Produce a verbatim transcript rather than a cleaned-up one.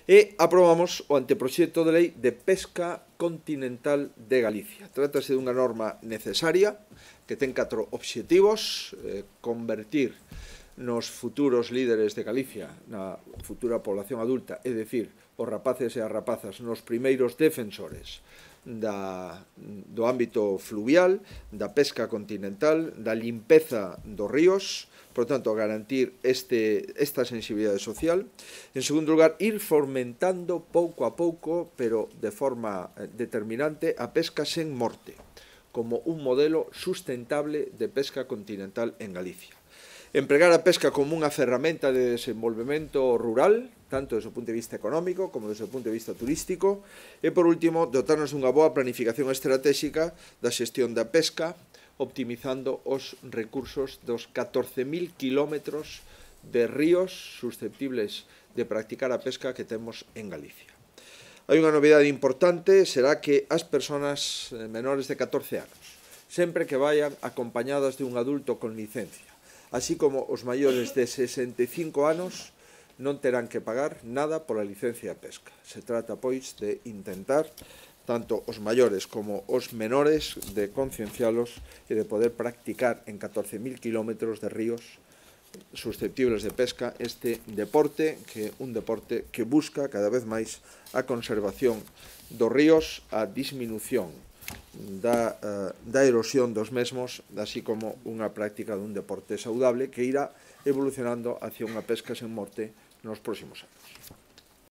E aprobamos o anteproxecto de lei de pesca continental de Galicia. Trátase dunha norma necesaria que ten catro obxectivos: eh, convertir nos futuros líderes de Galicia, na futura población adulta, é dicir, os rapaces e as rapazas, nos primeiros defensores da, do ámbito fluvial, da pesca continental, da limpeza dos ríos, por tanto, garantir este, esta sensibilidade social. En segundo lugar, ir fomentando pouco a pouco, pero de forma determinante, a pesca sen morte, como un modelo sustentable de pesca continental en Galicia. Empregar a pesca como unha ferramenta de desenvolvemento rural, tanto desde o punto de vista económico como desde o punto de vista turístico. E, por último, dotarnos dunha boa planificación estratégica da xestión da pesca, optimizando os recursos dos catorce mil kilómetros de ríos susceptibles de practicar a pesca que temos en Galicia. Hai unha novidade importante, será que as persoas menores de catorce anos, sempre que vayan acompañadas de un adulto con licencia, así como os maiores de sesenta e cinco anos, non terán que pagar nada pola licencia de pesca. Se trata, pois, de intentar, tanto os maiores como os menores, de conciencialos e de poder practicar en catorce mil kilómetros de ríos susceptibles de pesca este deporte, que é un deporte que busca cada vez máis a conservación dos ríos, a disminución Da, uh, da erosión dos mesmos, así como unha práctica dun deporte saudable que irá evolucionando hacia unha pesca sen morte nos próximos anos.